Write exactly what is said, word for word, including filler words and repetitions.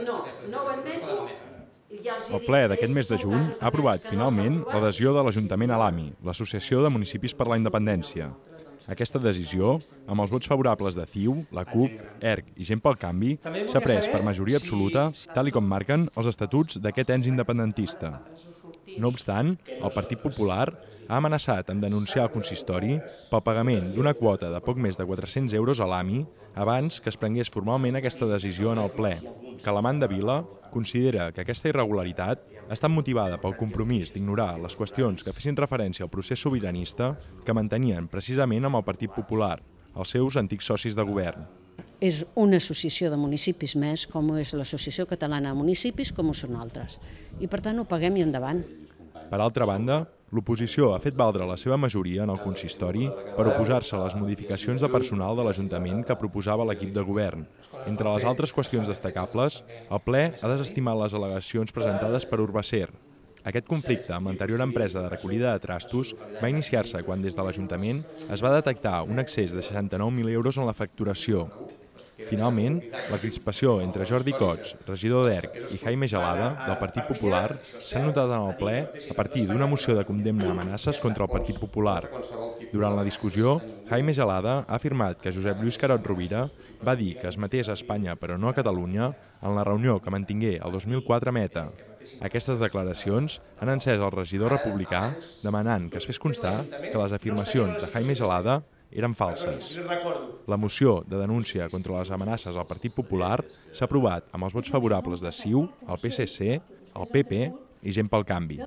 No, no ho admeto. El ple d'aquest mes de juny ha aprovat finalment l'adhesió de l'Ajuntament a l'A M I, l'Associació de Municipis per la Independència. Aquesta decisió, amb els vots favorables de C I U, la C U P, E R C i Gent pel Canvi, s'ha pres per majoria absoluta, tal i com marquen els estatuts d'aquest ens independentista. No obstant, el Partit Popular ha amenaçat amb denunciar el consistori pel pagament d'una quota de poc més de quatre-cents euros a l'A M I abans que es prengués formalment aquesta decisió en el ple. Calamanda Vila considera que aquesta irregularitat ha estat motivada pel compromís d'ignorar les qüestions que fessin referència al procés sobiranista que mantenien precisament amb el Partit Popular, els seus antics socis de govern. És una associació de municipis més, com és l'Associació Catalana de Municipis, com ho són altres. I per tant ho paguem i endavant. Per altra banda, l'oposició ha fet valdre la seva majoria en el consistori per oposar-se a les modificacions de personal de l'Ajuntament que proposava l'equip de govern. Entre les altres qüestions destacables, el ple ha desestimat les al·legacions presentades per Urbacer. Aquest conflicte amb l'anterior empresa de recollida de trastos va iniciar-se quan des de l'Ajuntament es va detectar un excés de seixanta-nou mil euros en la facturació. Finalment, la crispació entre Jordi Cots, regidor d'E R C, i Jaime Gelada, del Partit Popular, s'ha notat en el ple a partir d'una moció de condemna a amenaces contra el Partit Popular. Durant la discussió, Jaime Gelada ha afirmat que Josep Lluís Carod Rovira va dir que es matés a Espanya però no a Catalunya en la reunió que mantingué el dos mil quatre a Meta. Aquestes declaracions han encès el regidor republicà demanant que es fes constar que les afirmacions de Jaime Gelada eren falses. La moció de denúncia contra les amenaces al Partit Popular s'ha aprovat amb els vots favorables de C I U, el P S C, el P P i Gent pel Canvi.